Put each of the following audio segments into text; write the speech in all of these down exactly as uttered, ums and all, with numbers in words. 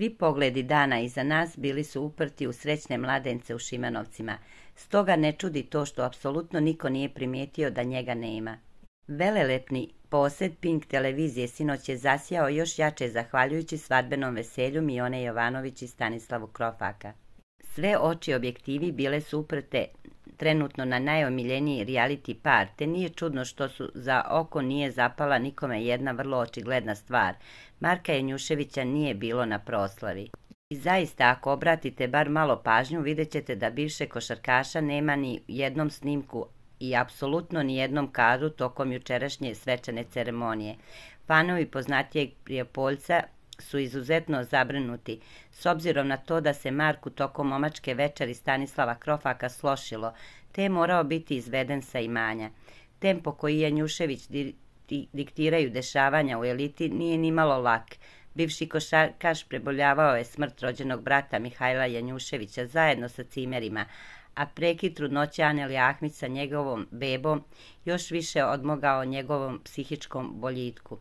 Svi pogledi dana iza nas bili su uprti u srećne mladence u Šimanovcima, stoga ne čudi to što apsolutno niko nije primijetio da njega nema. Velelepni posed Pink televizije sinoć je zasjao još jače zahvaljujući svadbenom veselju Mione Jovanović i Stanislavu Krofaka. Sve oči objektivi bile su uprte trenutno na najomiljeniji reality par, te nije čudno što su za oko nije zapala nikome jedna vrlo očigledna stvar. Marka Janjuševića nije bilo na proslavi. I zaista, ako obratite bar malo pažnju, vidjet ćete da bivše košarkaša nema ni jednom snimku i apsolutno ni jednom kadru tokom jučerašnje svečane ceremonije. Fanovi poznatijeg Prijepoljca su izuzetno zabrinuti, s obzirom na to da se Marku tokom momačke večeri Stanislava Krofaka slošilo, te je morao biti izveden sa imanja. Tempo koji Janjušević diktiraju dešavanja u eliti nije nimalo lak. Bivši košarkaš preboljavao je smrt rođenog brata Mihajla Janjuševića zajedno sa cimerima, a prekid trudnoće Aneli Ahmić sa njegovom bebom još više odmogao njegovom psihičkom boljitku.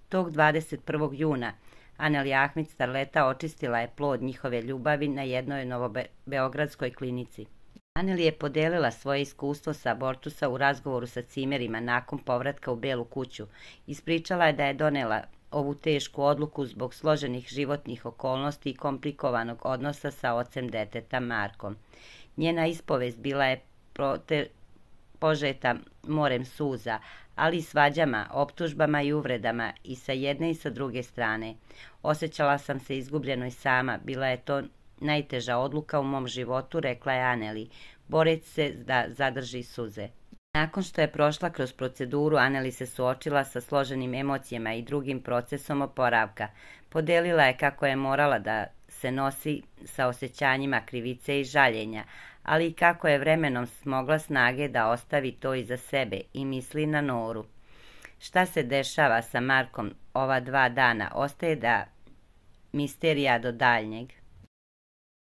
Tog dvadeset prvog juna Aneli Ahmić starleta očistila je plod njihove ljubavi na jednoj novobeogradskoj klinici. Aneli je podelila svoje iskustvo sa abortusa u razgovoru sa cimerima nakon povratka u Belu kuću. Ispričala je da je donela ovu tešku odluku zbog složenih životnih okolnosti i komplikovanog odnosa sa ocem deteta Markom. Njena ispovest bila je prote, požeta morem suza, ali i svađama, optužbama i uvredama i sa jedne i sa druge strane. Osjećala sam se izgubljeno i sama, bila je to najteža odluka u mom životu, rekla je Aneli, boreći se da zadrži suze. Nakon što je prošla kroz proceduru, Aneli se suočila sa složenim emocijama i drugim procesom oporavka. Podelila je kako je morala da se nosi sa osjećanjima krivice i žaljenja, ali i kako je vremenom smogla snage da ostavi to iza sebe i misli na Noru. Šta se dešava sa Markom ova dva dana ostaje da misterija do daljnjeg.